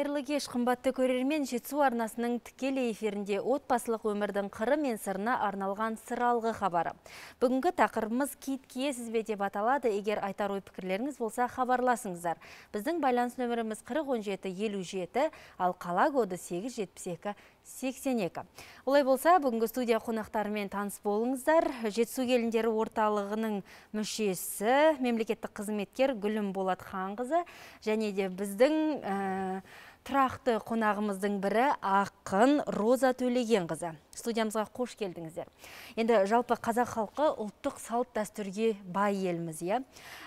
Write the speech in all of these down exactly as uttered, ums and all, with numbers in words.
Қайырлы кеш, қымбатты көрермен, Жетісу арнасының тікелей эфирінде отбасылық өмірдің қыры мен сырына арналған сыралғы хабары. Бүгінгі тақырыбымыз кит киесіз бе деп аталады. Егер айтар ой пікірлеріңіз болса, хабарласыңыздар. Біздің байланыс нөміріміз қырық он жеті елу жеті, ал қала коды сегіз жетпіс екі сексен екі. Олай болса, бүгінгі студия қонақтарымен таныс болыңыздар. Жетісу келіндері орталығының мүшесі, мемлекеттік қызметкер Гүлім Болатханқызы, және де біздің ә, тұрақты қонағымыздың бірі ақын Роза Төлегенқызы. Студиямызға қош келдіңіздер. Енді жалпы қазақ халқы ұлттық салт дәстүрге бай елміз, иә?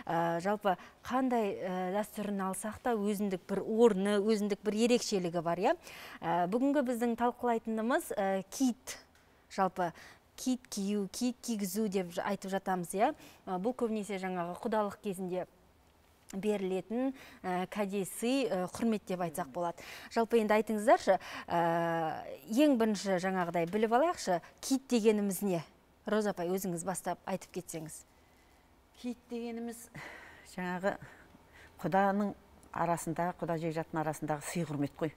Ә, жалпы қандай ә, дәстүрін алсақ та өзіндік бір орны, өзіндік бір ерекшелігі бар, иә? Ә, бүгінгі біздің талқылайтынымыз ә, кит, жалпы кит кию, кит кигізу деп айтып жатамыз, иә? Ә, бұл көбінесе жаңағы құдалық кезінде берілетін ә, кәдесі ә, құрмет деп айтсақ болады. Жалпы енді айтыңыздаршы, ә, ең бірінші жаңағыдай біліп алайықшы, кит дегеніміз не? Роза апай, өзіңіз бастап айтып кетсеңіз. Кит дегеніміз жаңағы құданың арасындағы, құда жекжаттың арасындағы сый құрмет қой.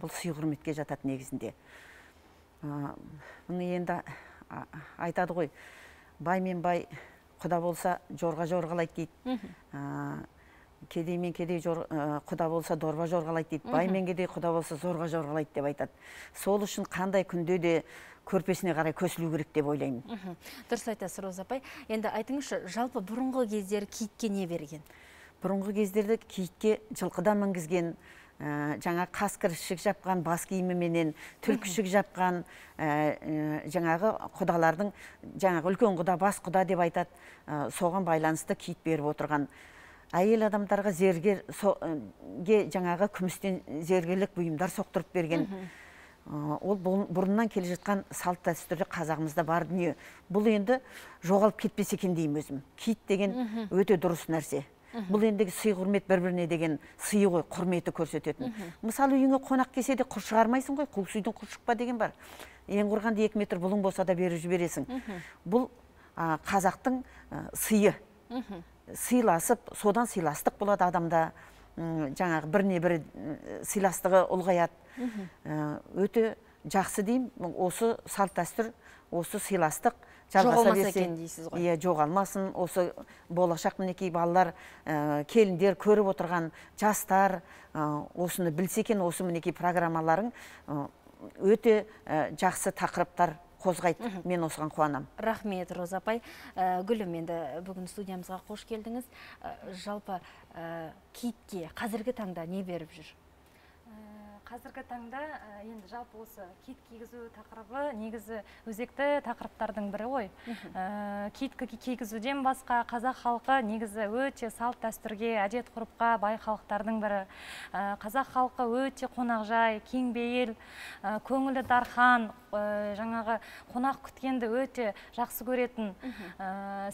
Бұл сый құрметке жатады негізінде. Бұны енді айтады ғой, бай мен бай құда болса жорға жорғалайды дейді. Кедей мен кедей құда болса дорба жорғалайды дейді. Бай мен кедей құда болса зорға жорғалайды деп айтады. Сол үшін қандай күнде де көрпесіне қарай көсілу керек деп ойлаймын. Дұрыс айтасыз, Роза апай. Енді айтыңызшы, жалпы бұрынғы кездері китке не берген? Бұрынғы кездерде китке жылқыдан мінгізген, жаңа қасқыр ішік жапқан бас киіміменен, түлкі ішік жапқан жаңағы құдалардың, жаңағы үлкен құда, бас құда деп айтады, соған байланысты кит беріп отырған. Әйел адамдарға зергерге жаңағы күмістен зергерлік бұйымдар соқтырып берген. Ол бұрыннан келе жатқан салт дәстүрі қазағымызда бар дүние. Бұл енді жоғалып кетпесе екен деймін өзім. Кит деген өте дұрыс нәрсе. Бұл ендегі сый құрмет бір-біріне деген сыйы ғой, құрметі көрсететін. Мысалы, үйіңе қонақ келсе де құр шығармайсың ғой, қуыс үйдің құр шықпа деген бар. Ең құрғанда екі метр бұлың болса да беріп жібересің. Бұл қазақтың сыйы. Сыйласып, содан сыйластық болады адамда, жаңағы біріне бірі сыйластығы ұлғаяды. Өте жақсы деймін, осы салт дәстүр, осы сыйластық жоғалмаса екен дейсіз ғой. Иә, жоғалмасын, осы болашақ мінекей балалар, келіндер көріп отырған жастар осыны білсе екен, осы мінекей программаларың өте жақсы тақырыптар қозғайды. Мен осыған қуанам. Рахмет, Роза апай. Гүлім, енді бүгін студиямызға қош келдіңіз. Жалпы китке қазіргі таңда не беріп жүр? Қазіргі таңда енді жалпы осы кит кигізу тақырыбы негізі өзекті тақырыптардың бірі ғой. Кит кигізуден басқа қазақ халқы негізі өте салт дәстүрге, әдет ғұрыпқа бай халықтардың бірі. Қазақ халқы өте қонақжай, кеңбейіл, көңілі дархан, жаңағы қонақ күткенді өте жақсы көретін.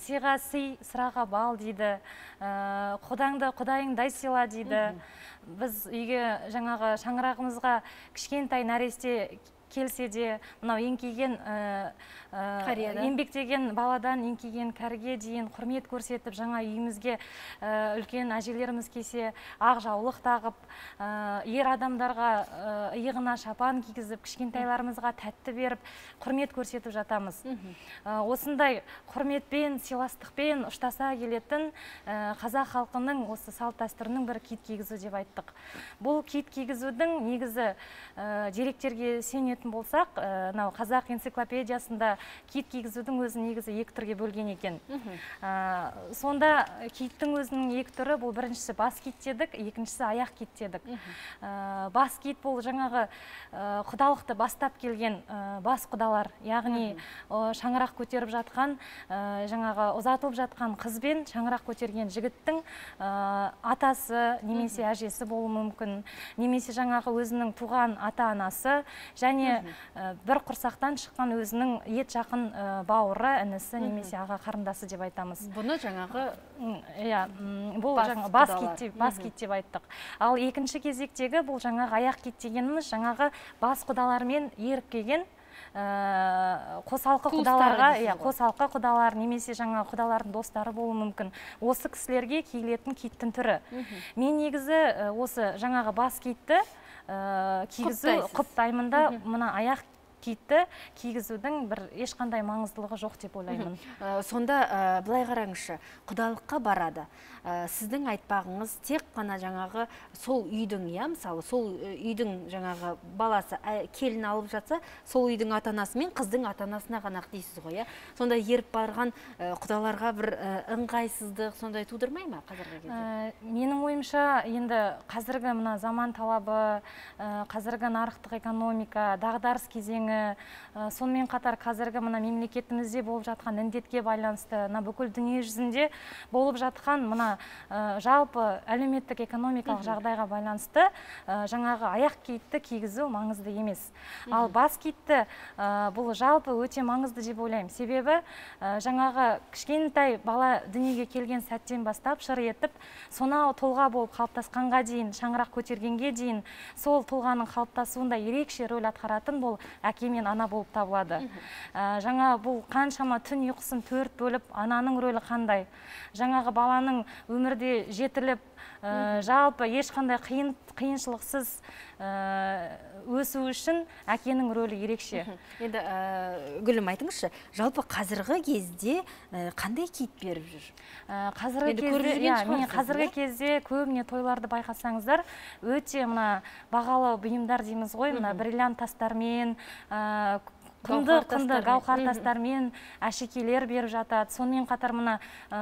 Сыйға сый, сыраға бал дейді. Құдаңды құдайыңдай сыйла дейді. Біз үйге жаңағы шаңырағымызға кішкентай нәресте келсе де, мынау еңкейген еңбектеген баладан еңкейген кәріге дейін құрмет көрсетіп, жаңа үйімізге үлкен әжелеріміз келсе ақ жаулық тағып, ер адамдарға иығына шапан кигізіп, кішкентайларымызға тәтті беріп, құрмет көрсетіп жатамыз. Осындай құрметпен, сыйластықпен ұштаса келетін қазақ халқының осы салт дәстүрінің бір кит кигізу деп айттық. Бұл кит кигізудің негізі деректерге сенетін болсақ, қазақ энциклопедиясында кит кигізудің өзі негізі екі түрге бөлген екен. Сонда киттің өзінің екі түрі, бұл біріншісі бас кит дедік, екіншісі аяқ кит дедік. Бас кит бұл жаңағы құдалықты бастап келген бас құдалар, яғни шаңырақ көтеріп жатқан, жаңағы ұзатылып жатқан қызбен шаңырақ көтерген жігіттің атасы немесе әжесі болуы мүмкін, немесе жаңағы өзінің туған ата-анасы, және бір құрсақтан шыққан өзінің ет жақын бауыры, інісі немесе аға қарындасы деп айтамыз. Бұны жаңағы бұл бас кит деп айттық. Ал екінші кезектегі бұл жаңағы аяқ кит дегеніміз жаңағы бас құдалармен еріп келген қосалқы құдаларға, қосалқы құдалар немесе жаңа құдалардың достары болуы мүмкін. Осы кісілерге киілетін киттің түрі. Мен негізі осы жаңағы бас китті кигізу құптаймын да, мына аяқ киітті кигізудің бір ешқандай маңыздылығы жоқ деп ойлаймын. Сонда былай қараңызшы, құдалыққа барады. Сіздің айтпағыңыз тек қана жаңағы сол үйдің, я, мысалы, сол үйдің жаңағы баласы келін алып жатса, сол үйдің ата-анасы мен қыздың ата-анасына ғана дейсіз ғой, я? Сонда еріп барған құдаларға бір ыңғайсыздық сондай тудырмай ма қазіргі кезде? Менің ойымша, енді қазіргі мына заман талабы, қазіргі нарықтық экономика, дағдарыс кезеңі, сонымен қатар қазіргі мына мемлекетімізде болып жатқан індетке байланысты, мына бүкіл дүние жүзінде болып жатқан мына жалпы әлеуметтік экономикалық жағдайға байланысты жаңағы аяқ киітті кигізу маңызды емес. Ал бас киітті бұл жалпы өте маңызды деп ойлаймын. Себебі жаңағы кішкентай бала дүниеге келген сәттен бастап шыр етіп, сонау тұлға болып қалыптасқанға дейін, шаңырақ көтергенге дейін сол тұлғаның қалыптасуында ерекше рөл атқаратын бұл әке мен ана болып табылады. Жаңа бұл қаншама түн ұйқысын төрт бөліп, ананың рөлі қандай? Жаңағы баланың өмірде жетіліп, жалпы ешқандай қиыншылықсыз өсу үшін әкенің рөлі ерекше. Енді Гүлім айтыңызшы, жалпы қазіргі кезде қандай киіт беріп жүр? Қазіргі кезде көбіне тойларды байқасаңыздар, өте мына бағалы бұйымдар дейміз ғой, мына бриллиант тастармен, құнды-құнды гауһар тастармен әшекейлер беріп жатады. Сонымен қатар мына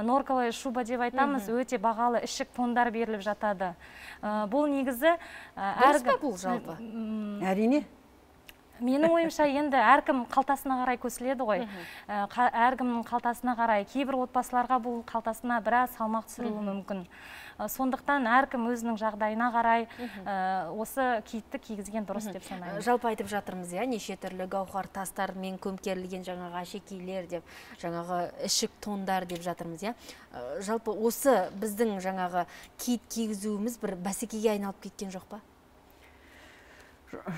норковая шуба деп айтамыз, өте бағалы ішік тондар беріліп жатады. Бұл негізі дұрыс па бұл жалпы? Әрине. Менің ойымша енді әркім қалтасына қарай көсіледі ғой. Әркімнің қалтасына қарай. Кейбір отбасыларға бұл қалтасына біраз салмақ түсіруі мүмкін. Сондықтан әркім өзінің жағдайына қарай осы киітті кигізген дұрыс деп санаймын. Жалпы айтып жатырмыз, я, неше түрлі гауһар тастармен көмкерілген жаңағы әшекейлер деп, жаңағы ішік тондар деп жатырмыз, я. Жалпы осы біздің жаңағы киіт кигізуіміз бір бәсекеге айналып кеткен жоқ па?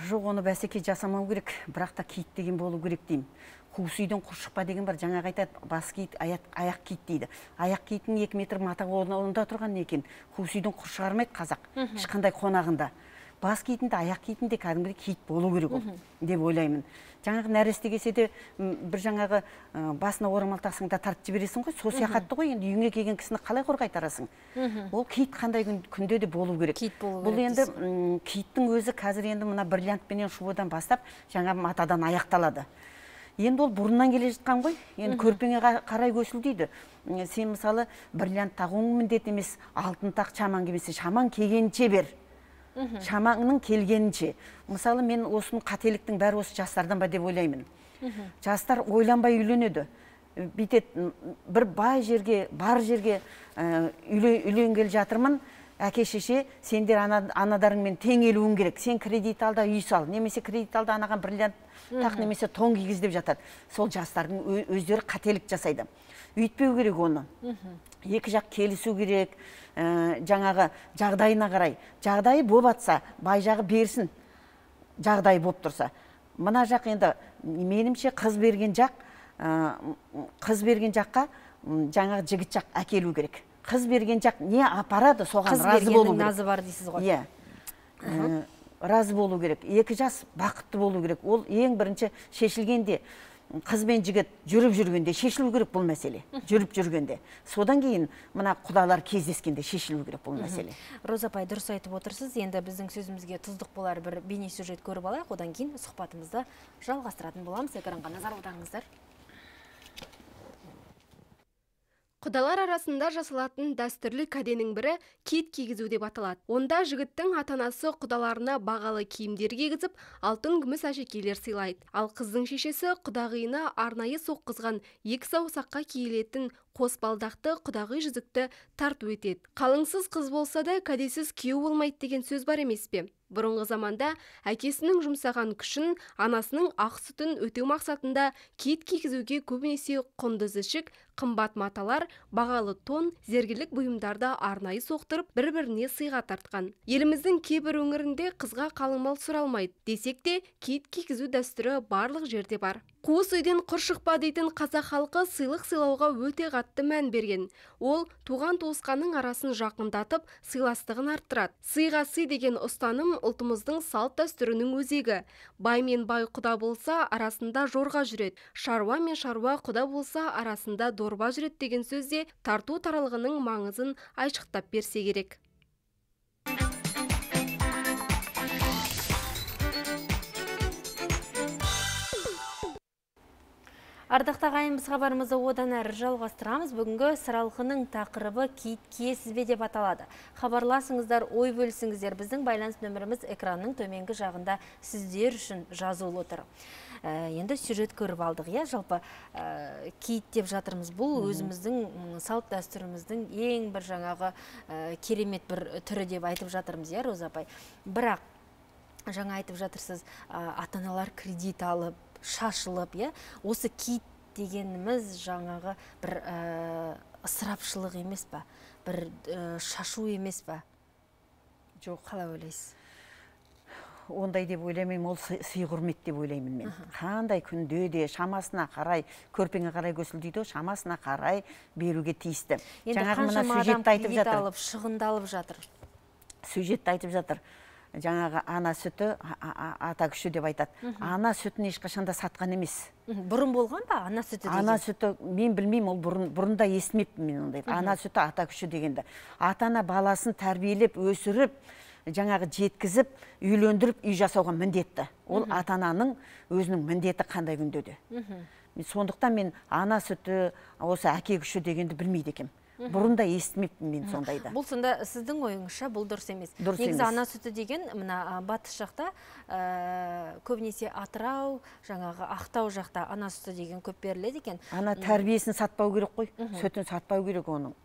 Жоқ, оны бәсеке жасамау керек, бірақ та киіт деген болу керек деймін. Қуыс үйден құр шықпа деген бар, жаңағы айтады, бас киіт, аяқ киіт дейді. Аяқ киітін екі метр мата орнында тұрған екен. Қуыс үйден құр шығармайды қазақ, ешқандай қонағында. Бас киітінде, аяқ киітінде кәдімгідей киіт болу керек ол, деп ойлаймын. Жаңағы нәресте келсе де бір жаңағы басына орамал тақсаң да тартып жібересің ғой, сол сияқатты ғой, енді үйіңе келген кісіні қалай қорғайтарасың? Ол киіт қандай күнде де болу керек. Бұл енді киіттің өзі қазір енді мына бриллиантпенен шубадан бастап жаңа матадан аяқталады. Енді ол бұрыннан келе жатқан ғой, енді көрпеңе қарай көсіл дейді. Сен мысалы бриллиант тағуың міндет емес, алтын тақ, шаман келмесе, шаман келгенше бер. Шамаңның келгенінше. Мысалы мен осының қателіктің бәрі осы жастардан ба деп ойлаймын. Жастар ойланбай үйленеді. Бүйтет бір бай жерге, бар жерге үйленгелі жатырмын. Әке шеше, сендер анадарыңмен тең елуің керек. Сен кредит алда үй сал, немесе кредит алда анаған бриллиант тақ, немесе тон кигіз деп жатады. Сол жастардың өздері қателік жасайды. Үйтпеу керек оны. Екі жақ келісу керек. Жаңағы жағдайына қарай. Жағдайы боп атса, бай жағы берсін. Жағдайы боп тұрса. Мына жақ енді менімше қыз берген жақ, қыз берген жаққа жаңағы жігіт жақ әкелу керек. Қыз берген жақ не апарады, соған разы болу керек. Қыз бергеннің назы бар дейсіз ғой. Иә. Разы болу керек. Екі жас бақытты болу керек. Ол ең бірінші шешілгенде, қыз бен жігіт жүріп жүргенде шешілу керек бұл мәселе. Жүріп жүргенде. Содан кейін мына құдалар кездескенде шешілу керек бұл мәселе. Роза апай, дұрыс айтып отырсыз. Енді біздің сөзімізге тұздық болар бір бейне сюжет көріп алайық. Одан кейін сұхбатымызды жалғастыратын боламыз. Экранға назар аударыңыздар. Құдалар арасында жасалатын дәстүрлі кәденің бірі киіт кигізу деп аталады. Онда жігіттің ата-анасы құдаларына бағалы киімдер кигізіп, алтын күміс әшекейлер сыйлайды. Ал қыздың шешесі құдағиына арнайы соққызған екі саусаққа киілетін қос балдақты құдағи жүзікті тарту етеді. Қалыңсыз қыз болса да кәдесіз күйеу болмайды деген сөз бар емес пе? Бұрынғы заманда әкесінің жұмсаған күшін, анасының ақ сүтін өтеу мақсатында киіт кигізуге көбінесе құнды ішік, қымбат маталар, бағалы тон, зергерлік бұйымдарды арнайы соқтырып, бір-біріне сыйға тартқан. Еліміздің кейбір өңірінде қызға қалың мал сұралмайды десек те, киіт кигізу дәстүрі барлық жерде бар. Қуыс үйден құр шықпа дейтін қазақ халқы сыйлық сыйлауға өте қатты қатты мән берген. Ол туған туысқанның арасын жақындатып, сыйластығын арттырады. Сыйға сый деген ұстаным ұлтымыздың салт дәстүрінің өзегі. Бай мен бай құда болса, арасында жорға жүреді. Шаруа мен шаруа құда болса, арасында дорба жүреді деген сөзде тарту таралғының маңызын айшықтап берсе керек. Ардақты ағайын, біз хабарымызды одан әрі жалғастырамыз. Бүгінгі сыралқының тақырыбы киіт киесіз бе деп аталады. Хабарласыңыздар, ой бөлісіңіздер. Біздің байланыс нөміріміз экранның төменгі жағында сіздер үшін жазулы отыр. Енді сюжет көріп алдық, я жалпы киіт деп жатырмыз. Бұл өзіміздің салт дәстүріміздің ең бір жаңағы керемет бір түрі деп айтып жатырмыз, я Роза апай. Бірақ жаңа айтып жатырсыз, ата-аналар кредит алып, шашылып, е, осы киіт дегеніміз жаңағы бір ысырапшылық емес па, бір шашу емес па? Жоқ, қалай ойлайсыз? Ондай деп ойлаймын, ол сый құрмет деп ойлаймын мен. Қандай күнде де шамасына қарай, көрпеңе қарай көсіл дейді, шамасына қарай беруге тиісті. Енді қаншама адам кредит алып, шығындалып жатыр? Сюжетті айтып жатыр. Жаңағы ана сүті, ата күші деп айтады. Ана сүтін ешқашанда сатқан емес. Бұрын болған ба ана сүті деген? Ана сүті, мен білмеймін, ол бұрында естімеппін мен ондайды. Ана сүті, ата күші дегенді. Ата-ана баласын тәрбиелеп, өсіріп, жаңағы жеткізіп, үйлендіріп, үй жасауға міндетті. Ол ата-ананың өзінің міндеті қандай күнде де. Сондықтан мен ана сүті, осы әке күші дегенді білмейді екем. Бұрында естімеппін мен сондайды. Бұл сонда сіздің ойыңызша бұл дұрыс емес. Негізі ана сүті деген мына батыс жақта көбінесе Атырау, жаңағы Ақтау жақта ана сүті деген көп беріледі екен. Ана тәрбиесін сатпау керек қой, сүтін сатпау керек оның.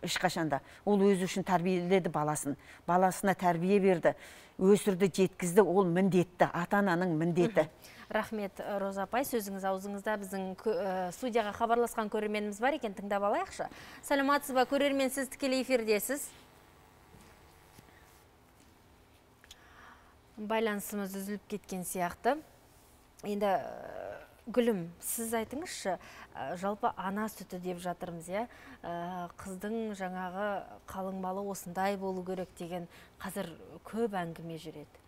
Ешқашанда. Ол өзі үшін тәрбиеледі баласын. Баласына тәрбие берді, өсірді, жеткізді, ол міндетті, ата-ананың міндеті. Рахмет, Роза апай, сөзіңіз аузыңызда. Біздің студияға хабарласқан көрерменіміз бар екен, тыңдап алайықшы. Саламатсыз ба, көрермен, сіз тікелей эфирдесіз. Байланысымыз үзіліп кеткен сияқты. Енді Гүлім, сіз айтыңызшы, жалпы ана сүті деп жатырмыз, я? Қыздың жаңағы қалың малы осындай болу керек деген қазір көп әңгіме жүреді.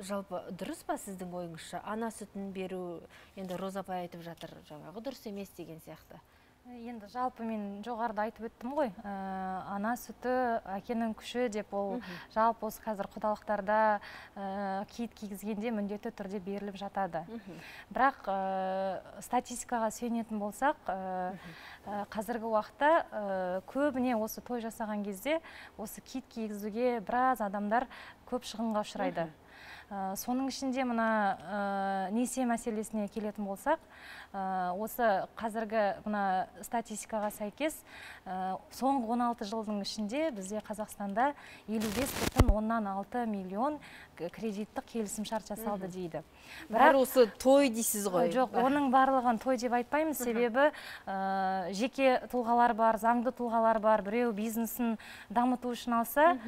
Жалпы дұрыс па сіздің ойыңызша? Ана сүтін беру, енді Роза апай айтып жатыр, жаңағы дұрыс емес деген сияқты. Енді жалпы мен жоғарыда айтып өттім ғой, ана сүті әкенің күші деп, ол жалпы осы қазір құдалықтарда киіт кигізгенде міндетті түрде беріліп жатады. Бірақ статистикаға сүйенетін болсақ, қазіргі уақытта көбіне осы той жасаған кезде осы киіт кигізуге біраз адамдар көп шығынға ұшырайды. Соның ішінде мына несие мәселесіне келетін болсақ, осы қазіргі мына статистикаға сәйкес соңғы он алты жылдың ішінде бізде Қазақстанда елу бес бүтін оннан алты миллион кредиттік келісім шарт жасалды дейді. Бірақ осы той дейсіз ғой? Жоқ, оның барлығын той деп айтпаймыз, себебі жеке тұлғалар бар, заңды тұлғалар бар, біреу бизнесін дамыту үшін алса,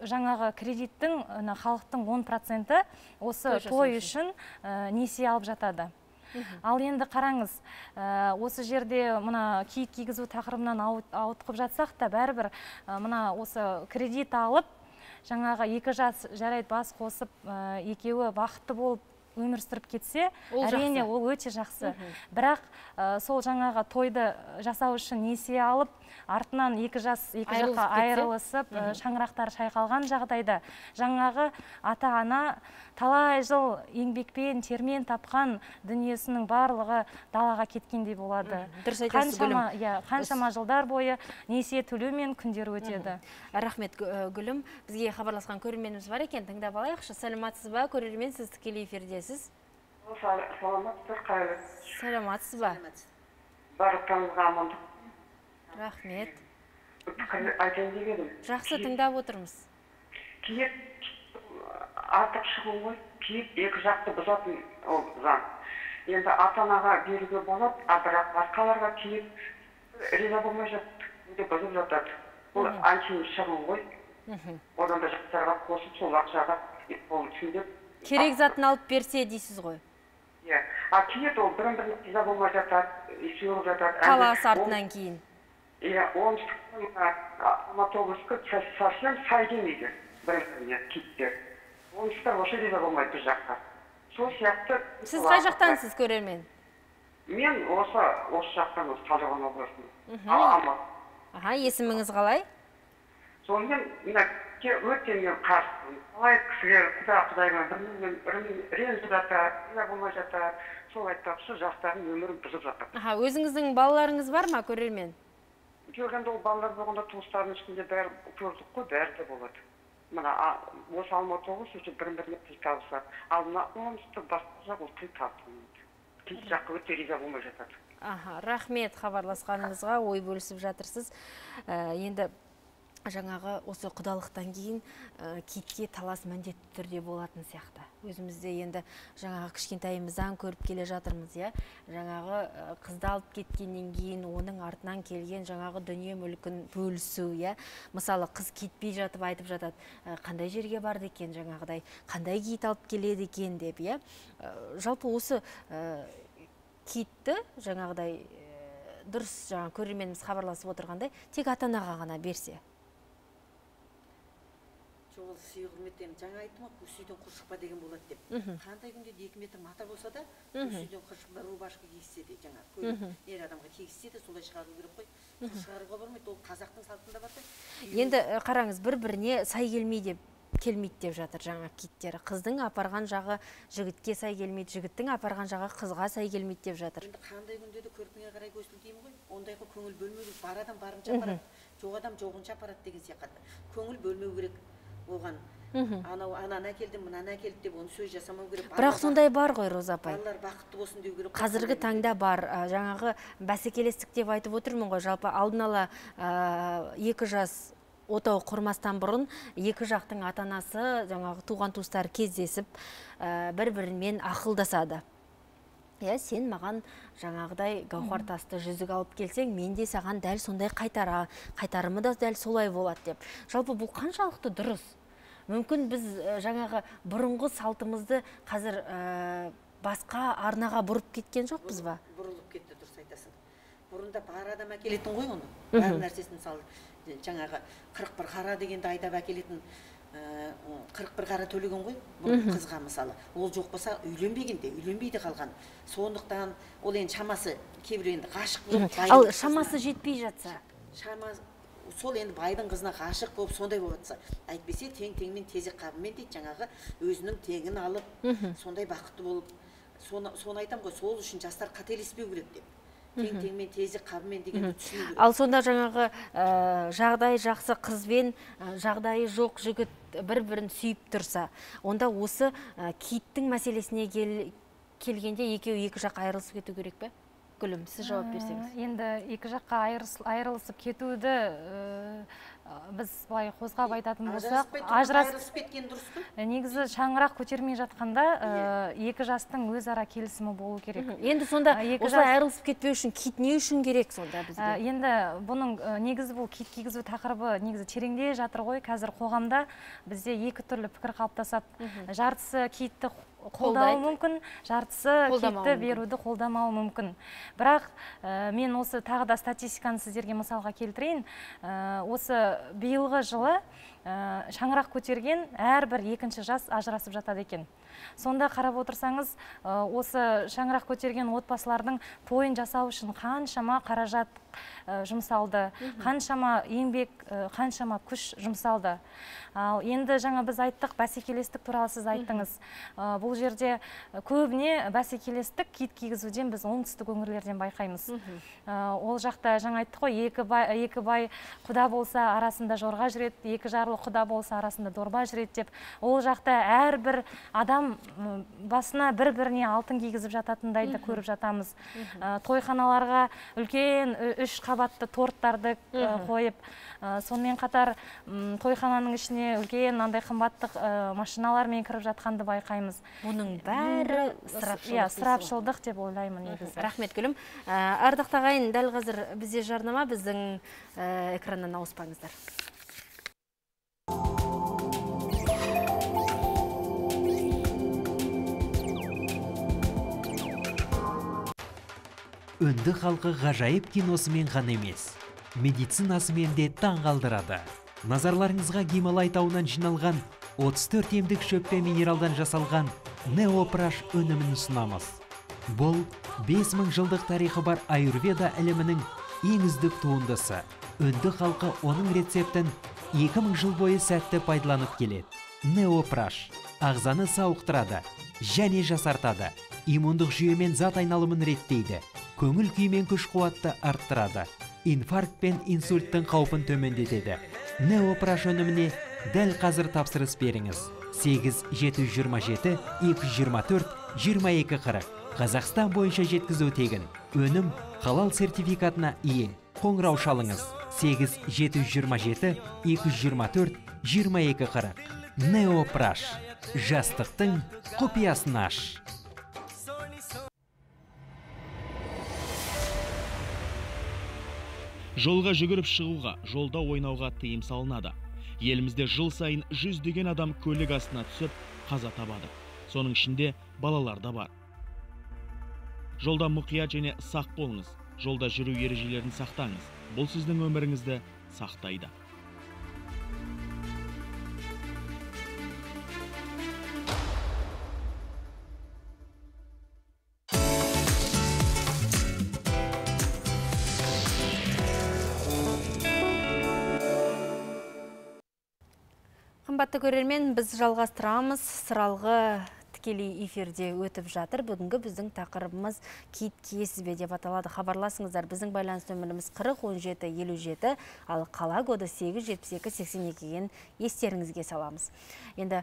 жаңағы кредиттің, халықтың он проценті осы той үшін несие алып жатады. Ал енді қараңыз, осы жерде мына киіт кигізу тақырыбынан ауытқып жатсақ та, бәрібір мына осы кредит алып, жаңағы екі жас жарайды бас қосып, екеуі бақытты болып өмір сүріп кетсе, әрине ол өте жақсы. Бірақ сол жаңағы тойды жасау үшін несие алып, артынан екі жас екі жаққа айырылысып, шаңырақтар шайқалған жағдайда жаңағы ата-ана талай жыл еңбекпен, термен тапқан дүниесінің барлығы далаға кеткендей болады. Дұрыс айтасыз, Гүлім. Қаншама жылдар бойы несие төлеумен күндер өтеді. Рахмет, Гүлім. Бізге хабарласқан көрерменіміз бар екен, тыңдап алайықшы. Саламатсыз ба, көрермен, сіз тікелей эфирдесіз. Саламатсыз ба? Барлықтарыңызға амандық. Рахмет. Айтайын деп едім. Жақсы, тыңдап отырмыз. Киіт артық шығын ғой, киіт екі жақты бұзатын ол заң. Енді ата-анаға беруге болады, а бірақ басқаларға киіт риза болмай жатты, бұзып жатады. Бұл антин шығын ғой. Одан да жастарға қосып, сол ақшаға ол түсіндеп. Керек затын алып берсе дейсіз ғой? Иә. А киет ол бірін-бірін риза болмай жатады, сүйіп жатады. Талас артынан кейін. Иә, оңтүстіктің Алматы облысы совсем сай келмейді бір-біріне киттер. Оңтүстіктер осы риза болмайды біз жақта. Сол сияқты... Сіз қай жақтансыз, көрермен? Мен осы осы жақтан, осы Талдықорған облысының. Аха, есіміңіз қалай? Сонымен, мына өте мен қарсымын. Қалай кісілер құда құдаймен бірін ренжіп жатады, риза болмай жатады. Сол айтпақшы, сол жастардың өмірін бұзып жатыр. Аха, өзіңіздің балаларыңыз бар ма, көрермен? Көргенде ол балалар болғанда туыстардың ішінде бәрі көрдік қой, бәрі де болады. Мына осы Алматы облысы үшін бірін-біріне тіл табысады. Ал мына оңтүстік басқа жақ ол тіл табысады. Тіл жаққа өте риза болмай жатады. Аха, рахмет хабарласқаныңызға, ой бөлісіп жатырсыз. Енді жаңағы осы құдалықтан кейін китке талас міндетті түрде болатын сияқты. Өзімізде енді жаңағы кішкентайымыздан көріп келе жатырмыз, иә. Жаңағы қызды алып кеткеннен кейін оның артынан келген жаңағы дүние мүлкін бөлісу, иә. Мысалы, қыз кетпей жатып айтып жатады, қандай жерге барды екен жаңағыдай, қандай киіт алып келеді екен деп, иә. Жалпы осы киітті жаңағыдай дұрыс жаңа көрерменіміз хабарласып отырғандай, тек ата-анаға ғана берсе. Ол сүй құрметтен жаңа айттым ғой, көз үйден құр шықпа деген болады деп. Қандай күнде де екі метр мата болса да, көз үйден құр шықпа рубашка киіссе де, жаңа ер адамға киіссе де солай шығару керек қой. Құр шығаруға бармайды, ол қазақтың салтында бар ғой. Енді қараңыз, бір-біріне сай келмейді келмейді деп жатыр жаңа киттері. Қыздың апарған жағы жігітке сай келмейді, жігіттің апарған жағы қызға сай келмейді деп жатыр. Енді қандай күнде де көрпіңе қарай көсіл деймін ғой. Ондайға көңіл бөлмеу керек. Бар адам барынша апарады, жоқ адам жоғынша апарады деген сияқты. Көңіл бөлмеу керек. Оған анау ананы әкелдім, мынаны әкелді деп оны сөз жасамау керек. Бірақ сондай бар ғой, Роза апай. Балалар бақытты болсын деу керек. Қазіргі таңда бар. Жаңағы бәсекелестік деп айтып отырмын ғой. Жалпы алдын ала екі жас отау құрмастан бұрын екі жақтың ата-анасы, жаңағы туған туыстар кездесіп, бір-бірімен ақылдасады. Иә, сен маған жаңағыдай гауһар тасты жүзік алып келсең, мен де саған дәл сондай қайтара, қайтарымы да дәл солай болады деп. Жалпы бұл қаншалықты дұрыс? Мүмкін біз жаңағы бұрынғы салтымызды қазір басқа арнаға бұрып кеткен жоқпыз ба? Бұрылып кетті, дұрыс айтасың. Бұрында бар адам әкелетін ғой оны. Бар нәрсесін сал, жаңағы қырық бір қара дегенді айдап әкелетін қырық бір қара төлеген ғой, қызға мысалы. Ол жоқ болса үйленбегенде, үйленбейді қалған. Сондықтан ол енді шамасы кейбір енді ғашық болып. Ал шамасы жетпей жатса? Шамасы сол енді байдың қызына ғашық болып сондай болатса, әйтпесе тең-теңмен тезек қабымен дейді, жаңағы өзінің теңін алып, сондай бақытты болып, соны айтам ғой, сол үшін жастар қателеспеу керек деп. Тең-теңмен тезек қабымен дегенді түсіну керек. Ал сонда жаңағы жағдайы жақсы қызбен жағдайы жоқ жігіт бір-бірін сүйіп тұрса, онда осы киіттің мәселесіне келгенде екеуі екі жақ айырылысып кету керек пе? Гүлім, сіз жауап берсеңіз. Енді екі жаққа айырылысып кетуді біз былай қозғап айтатын болсақ, ажырасып кеткен дұрыс па? Негізі шаңырақ көтермей жатқанда екі жастың өзара келісімі болу керек. Енді сонда осылай айырылысып кетпеу үшін киіт не үшін керек сонда бізге? Енді бұның негізі бұл киіт кигізу тақырыбы негізі тереңде жатыр ғой. Қазір қоғамда бізде екі түрлі пікір қалыптасады. Жартысы киітті қолдауы мүмкін, жартысы киітті беруді қолдамауы мүмкін. Бірақ мен осы тағы да статистиканы сіздерге мысалға келтірейін. Осы биылғы жылы шаңырақ көтерген әрбір екінші жас ажырасып жатады екен. Сонда қарап отырсаңыз, осы шаңырақ көтерген отбасылардың тойын жасау үшін қаншама қаражат жұмсалды, қаншама еңбек, қаншама күш жұмсалды. Ал енді жаңа біз айттық, бәсекелестік туралы сіз айттыңыз. Бұл жерде көбіне бәсекелестік киіт кигізуден біз оңтүстік өңірлерден байқаймыз. Ол жақта жаңа айттық қой, екі бай құда болса арасында жорға жүреді, екі жарлы құда болса арасында дорба жүреді деп. Ол жақта әрбір адам басына бір-біріне алтын кигізіп жататындайды көріп жатамыз. Тойханаларға үлкен үш қабатты торттарды қойып, сонымен қатар тойхананың ішіне үлкен андай қымбаттық машиналармен кіріп жатқанды байқаймыз. Бұның бәрі ысырапшылдық деп ойлаймын негізі. Рахмет Гүлім. Ардақ ағайын, дәл қазір бізде жарнама, біздің экраннан ауыспаңыздар. Үнді халқы ғажайып киносымен ғана емес, медицинасымен де таң қалдырады. Назарларыңызға Гималай тауынан жиналған отыз төрт емдік шөп пен минералдан жасалған Неопраш өнімін ұсынамыз. Бұл бес мың жылдық тарихы бар аюрведа ілімінің ең үздік туындысы. Үнді халқы оның рецептін екі мың жыл бойы сәтті пайдаланып келеді. Неопраш ағзаны сауықтырады және жасартады. Иммундық жүйемен зат айналымын реттейді. Көңіл күймен күш қуатты арттырады. Инфаркт пен инсульттің қаупін төмендетеді. Неопраш өніміне дәл қазір тапсырыс беріңіз. сегіз жеті жүз жиырма жеті екі жүз жиырма төрт жиырма екі қырық. Қазақстан бойынша жеткізу тегін. Өнім халал сертификатына ие. Қоңырау шалыңыз. сегіз жеті жүз жиырма жеті екі жүз жиырма төрт жиырма екі қырық. Неопраш. Жастықтың құпиясын аш. Жолға жүгіріп шығуға, жолда ойнауға тыйым салынады. Елімізде жыл сайын жүздеген адам көлік астына түсіп, қаза табады. Соның ішінде балалар да бар. Жолда мұқият және сақ болыңыз. Жолда жүру ережелерін сақтаңыз. Бұл сіздің өміріңізді сақтайды. Қымбатты көрермен, біз жалғастырамыз. Сыралғы тікелей эфирде өтіп жатыр. Бүгінгі біздің тақырыбымыз киіт киесіз бе деп аталады. Хабарласыңыздар. Біздің байланыс нөміріміз қырық он жеті елу жеті, ал қала коды сегіз жетпіс екі сексен екіден естеріңізге саламыз. Енді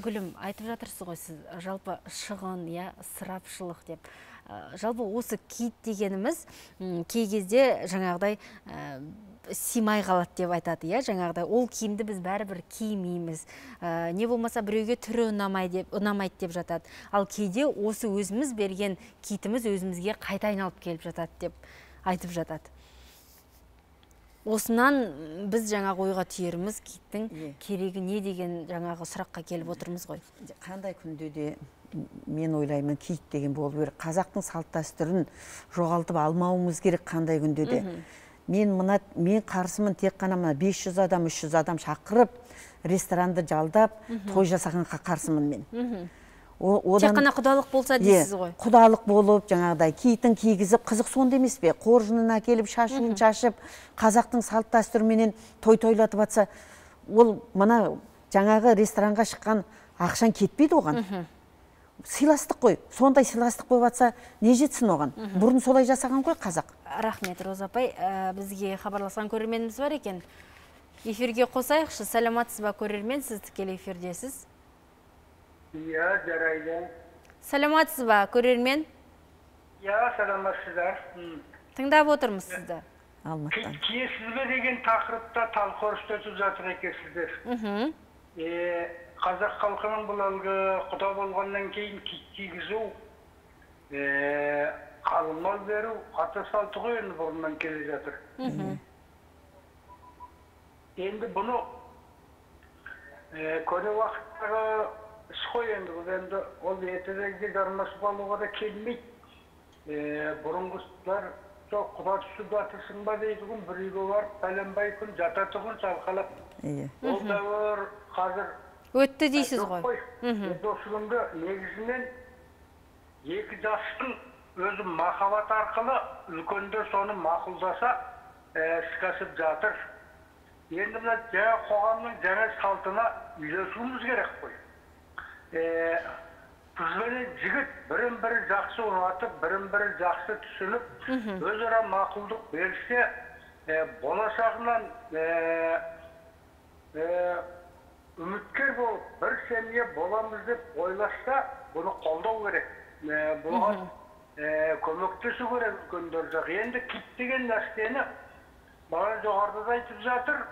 Гүлім, айтып жатырсыз ғой сіз, жалпы шығын, я сырапшылық деп. Жалпы осы киіт дегеніміз кей кезде жаңағыдай симай қалады деп айтады, я, жаңағыдай ол киімді біз бәрібір кимейміз. Не болмаса біреуге түрі ұнамайды деп жатады. Ал кейде осы өзіміз берген киітіміз өзімізге қайта айналып келіп жатады деп айтып жатады. Осынан біз жаңағы ойға түйеріміз киіттің керегі не деген жаңағы сұраққа келіп отырмыз ғой. Қандай күнде де мен ойлаймын, киіт деген болу керек. Қазақтың салт дәстүрін жоғалтып алмауымыз керек қандай күнде де. Мен мына мен қарсымын, тек қана мына бес жүз адам, үш жүз адам шақырып, ресторанды жалдап, той жасағанға қарсымын мен. Тек қана құдалық болса дейсіз ғой. Құдалық болып, жаңағыдай киітін кигізіп, қызық сонда емес пе? Қоржынын әкеліп, шашуын шашып, қазақтың салт дәстүріменен той тойлатып атса, ол мына жаңағы ресторанға шыққан ақшан кетпейді оған. Сыйластық қой. Сондай сыйластық болып атса, не жетсін оған? Бұрын солай жасаған ғой қазақ. Рахмет, Роза апай. Бізге хабарласқан көрерменіміз бар екен. Эфирге қосайықшы. Саламатсыз ба көрермен, сіз тікелей эфирдесіз? Иә, жарайды. Саламатсыз ба көрермен? Иә, саламатсыздар. Тыңдап отырмыз сізді. Алматыдан. Киесіз бе деген тақырыпта талқы өтіп жатыр екенсіздер. Қазақ халқының бұл әлгі құда болғаннан кейін киіт кигізу, қалың мал беру, ата салты ғой енді бұрыннан келе жатыр. Енді бұны көне уақыттағы іс қой енді, бұл енді ол ертедегі жармасып алуға да келмейді. Бұрынғысылар құда түсіп жатырсың ба дейді күн, бір үйге барып бәленбай күн жататы күн салқалап. Ол дәуір қазір өтті дейсіз ғой. Осы күнгі негізінен екі жастың өзі махаббат арқылы үлкендер соны мақұлдаса ісқасып жатыр. Енді мына жаңа қоғамның жаңа салтына үйлесуіміз керек қой. Қыз бен жігіт бірін-бірі жақсы ұнатып, бірін-бірі жақсы түсініп, өзара мақұлдық берсе, болашағынан үміткер болып, бір семье боламыз деп ойласа, бұны қолдау керек. Бұған көмектесу керек үлкендер жақ. Енді киіт деген нәрсені маған жоғарыда айтып жатыр.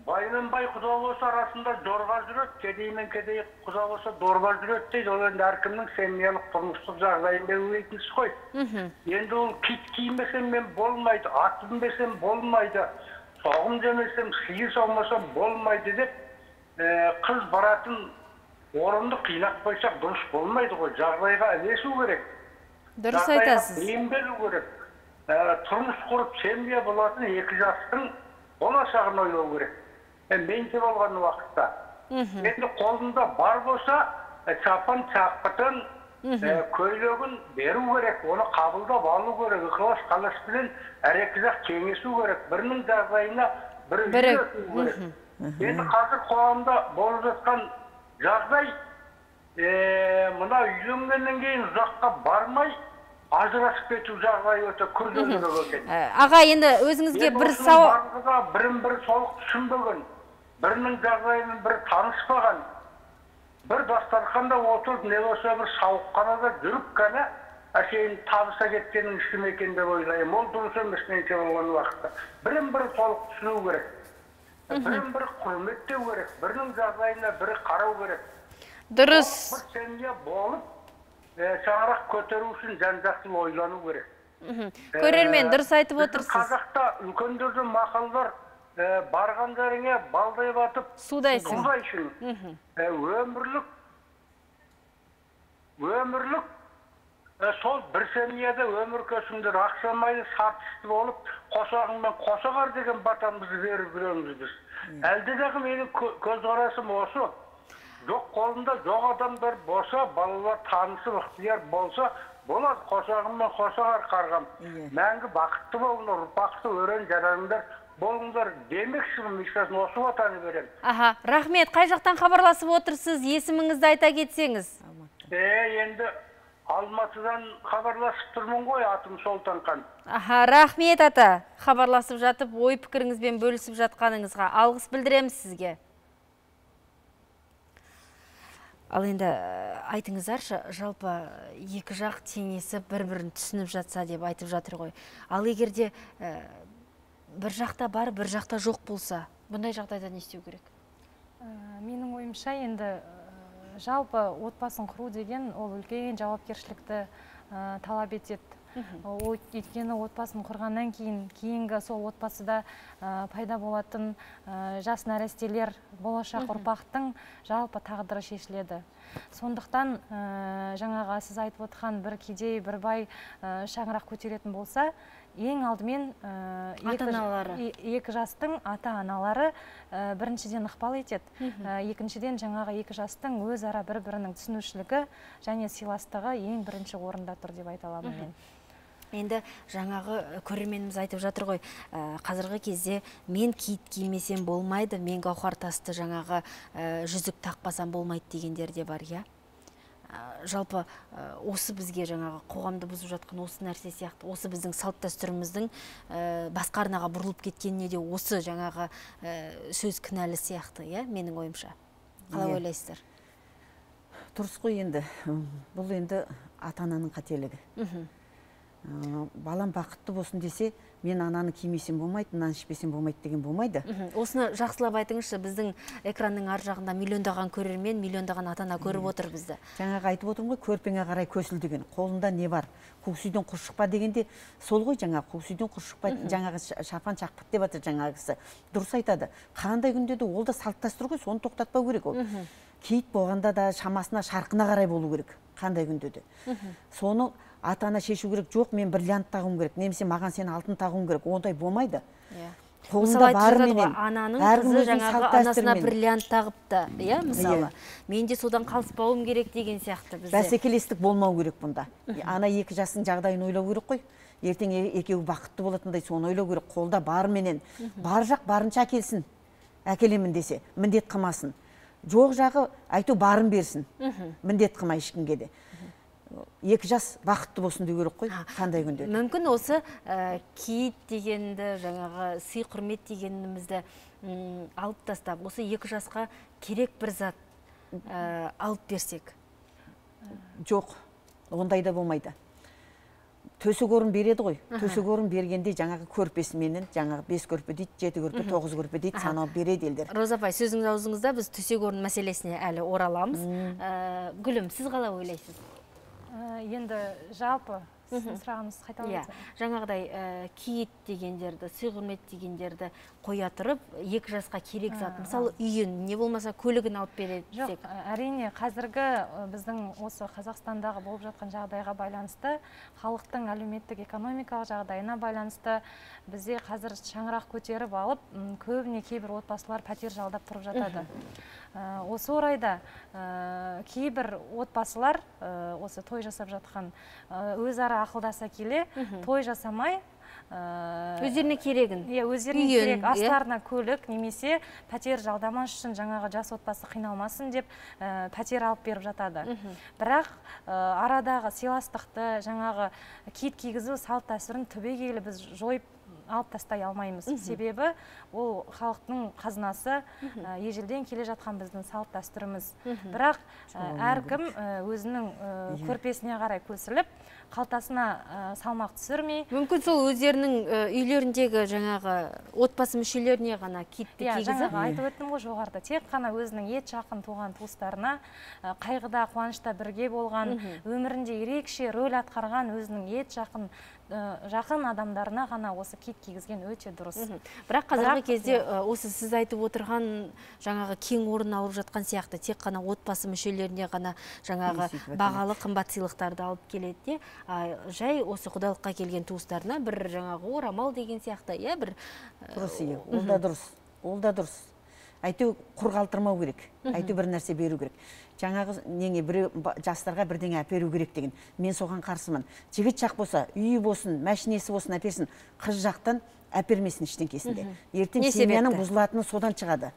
Баймен бай құда болса арасында дорба жүреді, кедеймен кедей құда болса дорба жүреді дейді. Ол енді әркімнің семьялық тұрмыстық жағдайын белгілейтін іс қой. Енді ол киіт кимесем мен болмайды, ат мінбесем болмайды, соғым жемесем, сиыр саумасам болмайды деп, қыз баратын орынды қинап қойсақ дұрыс болмайды ғой, жағдайға ілесу керек. Дұрыс айтасыз. Бейім беру керек. Тұрмыс құрып семья болатын екі жастың болашағын ойлау керек. Менде болған уақытта. Енді қолында бар болса, шапан шапқытын, көйлегін беру керек, оны қабылдап алу керек, ықылас қаласпен әректі жақ кеңесу керек, бірінің жағдайына бірі үйрету керек. Енді қазір қоғамда болып жатқан жағдай, мына үйленгеннен кейін ұзаққа бармай, ажырасып кету жағдай өте күрделі екен. Аға, енді өзіңізге бір сауал бірін бірі толық түсінбеген, бірінің жағдайымен бір таныспаған, бір дастарханда отырып, не болса бір сауықханада жүріп қана әшейін табыса кеткенің үшін екен деп ойлаймын. Ол дұрыс емес меніңше болған уақытта. Бірін бірі толық түсіну керек. Бірін бірі құрметтеу керек, бірінің жағдайына бірі қарау керек. Дұрыс. Бір семья болып, шаңырақ көтеру үшін жан-жақты ойлану керек. Көрермен, дұрыс айтып отырсыз. Қазақта үлкендердің мақалдар барған жеріңе балдай батып судайсың. Судайсың. Өмірлік, өмірлік, сол бір семьяда өмір көсімдер ақсамайды сартысты болып, қосағыңмен қосағар деген батамызды беріп жүреміз біз. Әлдедағы менің көзқарасым осы. Жоқ қолында жоқ адамдар болса, балалар танысы ықтияр болса, болады қосағыңмен қосағар қарғам. Мәңгі бақытты болыңдар, ұрпақты өрен жараңдар болыңдар демекшімін, мишасын осы ватаны берем. Аха, рахмет. Қай жақтан хабарласып отырсыз? Есіміңізді айта кетсеңіз. Е, енді Алматыдан хабарласып тұрмын ғой, атым Солтанқан. Аха, рахмет ата. Хабарласып жатып, ой пікіріңізбен бөлісіп жатқаныңызға алғыс білдіреміз сізге. Ал енді айтыңыздаршы, жалпы екі жақ теңесіп бір-бірін түсініп жатса деп айтып жатыр ғой. Ал егерде бір жақта бар, бір жақта жоқ болса, бұндай жағдайда не істеу керек? Менің ойымша, енді жалпы отбасын құру деген ол үлкен жауапкершілікті талап етеді. Өйткені отбасын құрғаннан кейін, кейінгі сол отбасыда пайда болатын жас нәрестелер, болашақ ұрпақтың жалпы тағдыры шешіледі. Сондықтан жаңаға сіз айтып отырған бір кедей, бір бай шаңырақ көтеретін болса, ең алдымен екі жастың ата-аналары біріншіден ықпал етеді. Екіншіден жаңағы екі жастың өз ара бір-бірінің түсінушілігі және сыйластығы ең бірінші орында тұр деп айта аламын мен. Енді жаңағы көрерменіміз айтып жатыр ғой, қазіргі кезде мен киіт кимесем болмайды, мен гауһар тасты жаңағы жүзік тақпасам болмайды дегендер де бар, иә? Жалпы осы бізге жаңағы қоғамды бұзып жатқан осы нәрсе сияқты, осы біздің салт дәстүріміздің басқа арнаға бұрылып кеткеніне де осы жаңағы сөз кінәлі сияқты, иә, менің ойымша. Қалай ойлайсыздар? Дұрыс қой енді. Бұл енді ата-ананың қателігі. Балам бақытты болсын десе, мен ананы кимесем болмайды, нан ішпесем болмайды деген болмайды. Осыны жақсылап айтыңызшы, біздің экранның ар жағында миллиондаған көрермен, миллиондаған ата-ана көріп отыр бізді. Жаңағы айтып отырмын ғой, көрпеңе қарай көсіл деген. Қолында не бар? Көксүйден құр шықпа дегенде сол ғой, жаңағы көксүйден құр шықпа, жаңағы шапан шақпыт деп жатыр жаңағысы. Дұрыс айтады. Қандай күнде де ол да салт дәстүр ғой, соны тоқтатпау керек ол. Киіт болғанда да шамасына, шарқына қарай болу керек. Қандай күнде де. Соны ата-ана шешу керек, жоқ, мен бриллиант тағуым керек, немесе маған сен алтын тағуым керек, ондай болмайды. Қолында барменен ананың қызы жаңағы анасына бриллиант тағыпты, иә, мысалы. Мен де содан қалыспауым керек деген сияқты бізде. Бәсекелестік болмау керек бұнда. Ана екі жасың жағдайын ойлау керек қой. Ертең екеуі бақытты болатындай соны ойлау керек. Қолда барменен бар жақ барынша әкелсін. Әкелемін десе, міндет қылмасын. Жоқ жағы айту барын берсін. Міндет қылмай ешкімге де. Екі жас бақытты болсын деу керек қой, қандай күнде. Мүмкін осы киіт дегенді, жаңағы сый құрмет дегенімізді алып тастап, осы екі жасқа керек бір зат алып берсек? Жоқ, ондай да болмайды. Төсек орын береді ғой. Төсек орын бергенде жаңағы көрпесіменен, жаңағы бес көрпе дейді, жеті көрпе, тоғыз көрпе дейді, санау береді елдер. Роза апай, сөзіңіз аузыңызда, біз төсек орын мәселесіне әлі ораламыз. Гүлім, сіз қалай ойлайсыз? Енді жалпы сіздің сұрағыңыз қайталап жаңағыдай киіт дегендерді, сый құрмет дегендерді қоя тұрып, екі жасқа керек зат, мысалы үйін, не болмаса көлігін алып береді. Жоқ, әрине қазіргі біздің осы Қазақстандағы болып жатқан жағдайға байланысты, халықтың әлеуметтік экономикалық жағдайына байланысты бізде қазір шаңырақ көтеріп алып, көбіне кейбір отбасылар пәтер жалдап тұрып жатады. Осы орайда кейбір отбасылар осы той жасап жатқан өзара ақылдаса келе, той жасамай өздеріне керегін, өздеріне керек астарына көлік немесе пәтер жалдамас үшін жаңағы жас отбасы қиналмасын деп пәтер алып беріп жатады. Бірақ арадағы сыйластықты, жаңағы киіт кигізу салт дәстүрін түбегейлі біз жойып алып тастай алмаймыз. Себебі ол халықтың қазынасы, ежелден келе жатқан біздің салт дәстүріміз. Бірақ әркім өзінің көрпесіне қарай көсіліп, қалтасына салмақ түсірмей. Мүмкін сол өздерінің үйлеріндегі жаңағы отбасы мүшелеріне ғана киітті кигізіп. Жаңағы айтып өттім ғой жоғарыда. Тек қана өзінің ет жақын туған туыстарына, қайғыда, қуанышта бірге болған, өмірінде ерекше рөл атқарған өзінің ет жақын жақын адамдарына ғана осы киіт кигізген өте дұрыс. Бірақ қазіргі кезде осы сіз айтып отырған жаңағы кең орын алып жатқан сияқты, тек қана отбасы мүшелеріне ғана жаңағы бағалы қымбат сыйлықтарды алып келеді. Жай осы құдалыққа келген туыстарына бір жаңағы орамал деген сияқты, иә, бір дұрыс, ол да дұрыс. Ол да дұрыс. Әйтеу құр қалтырмау керек. Әйтеу бір нәрсе беру керек. Жаңағы неге біреу жастарға бірдеңе әперу керек деген. Мен соған қарсымын. Жігіт жақ болса, үйі болсын, мәшинесі болсын әперсін, қыз жақтан әпермесін іштеңкесінде. Ертең семьяның бұзылатыны содан шығады.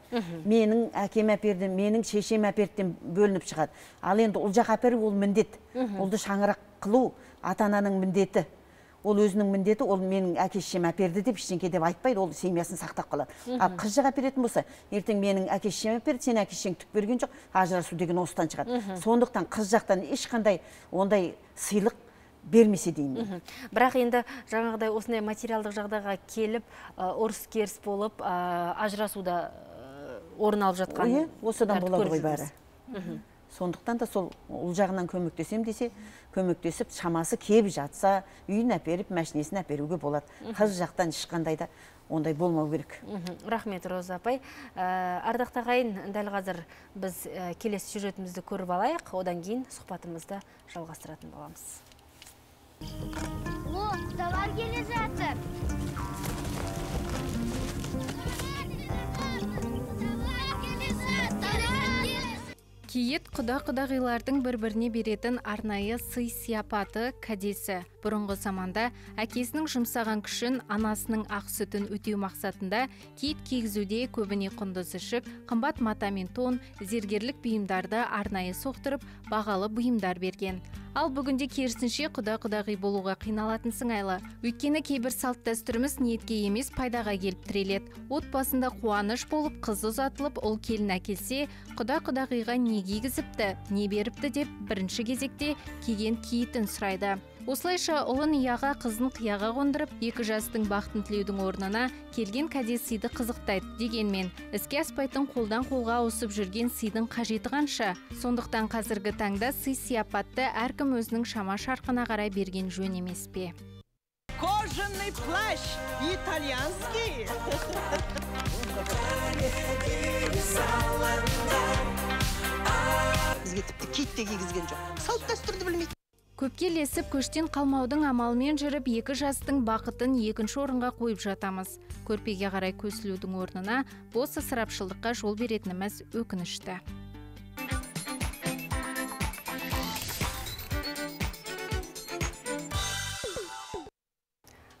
Менің әкем әперді, менің шешем әперден бөлініп шығады. Ал енді ол жақ әперу ол міндет. Олды шаңырақ қылу ата-ананың міндеті. Ол өзінің міндеті, ол менің әке-шешем әперді деп ештеңке деп айтпайды, ол семьясын сақтап қалады. Ал қыз жақ әперетін болса, ертең менің әке-шешем әперді, сен әке-шешең түк берген жоқ, ажырасу деген осыдан шығады. Сондықтан қыз жақтан ешқандай ондай сыйлық бермесе деймін. Бірақ енді жаңағыдай осындай материалдық жағдайға келіп, ұрыс-керіс болып, ажырасуда орын алып жатқан осыдан болады ғой бәрі. Сондықтан да сол ол жағынан көмектесем десе, көмектесіп, шамасы кеп жатса, үйін әперіп, мәшинесін әперуге болады. Қыз жақтан ешқандай да ондай болмау керек. Рахмет, Роза апай. Ардақты ағайын, дәл қазір біз келесі сюжетімізді көріп алайық, одан кейін сұхбатымызды жалғастыратын боламыз. О, құдалар келе жатыр. Киіт құда-құдағилардың бір-біріне беретін арнайы сый сияпаты, кәдесі. Бұрынғы заманда әкесінің жұмсаған күшін, анасының ақ сүтін өтеу мақсатында киіт кигізуде көбіне құндыз ішік, қымбат мата мен тон, зергерлік бұйымдарды арнайы соқтырып, бағалы бұйымдар берген. Ал бүгінде керісінше құда-құдағи болуға қиналатын сыңайлы. Өйткені кейбір салт дәстүріміз ниетке емес пайдаға келіп тіреледі. Отбасында қуаныш болып, қыз ұзатылып, ол келін әкелсе, құда-құдағиға не кигізіпті, не беріпті деп бірінші кезекте киген киітін сұрайды. Осылайша ұлын ияға, қызын қияға қондырып, екі жастың бақытын тілеудің орнына келген кәдес сыйды қызықтайды. Дегенмен, іске аспайтын қолдан қолға ауысып жүрген сыйдың қажеті қанша? Сондықтан қазіргі таңда сый сияпатты әркім өзінің шама шарқына қарай берген жөн емес пе? Кожаный плащ итальянский. Бізге тіпті киіт те кигізген жоқ. Салт дәстүрді білмейді. Көпке ілесіп, көштен қалмаудың амалымен жүріп, екі жастың бақытын екінші орынға қойып жатамыз. Көрпеге қарай көсілудің орнына бос ысырапшылдыққа жол беретініміз өкінішті.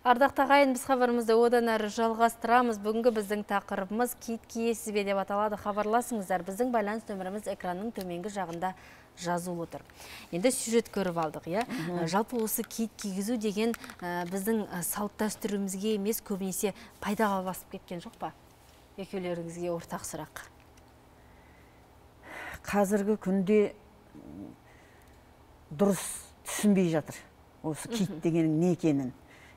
Ардақты ағайын, біз хабарымызды одан әрі жалғастырамыз. Бүгінгі біздің тақырыбымыз киіт киесіз бе деп аталады. Хабарласыңыздар. Біздің байланыс нөміріміз экранның төменгі жағында жазулы тұр. Енді сюжет көріп алдық, иә? Жалпы осы киіт кигізу деген біздің салт дәстүрімізге емес, көбінесе пайдаға басып кеткен жоқ па? Екеулеріңізге ортақ сұрақ. Қазіргі күнде дұрыс түсінбей жатыр. Осы киіт дегенің не екенін.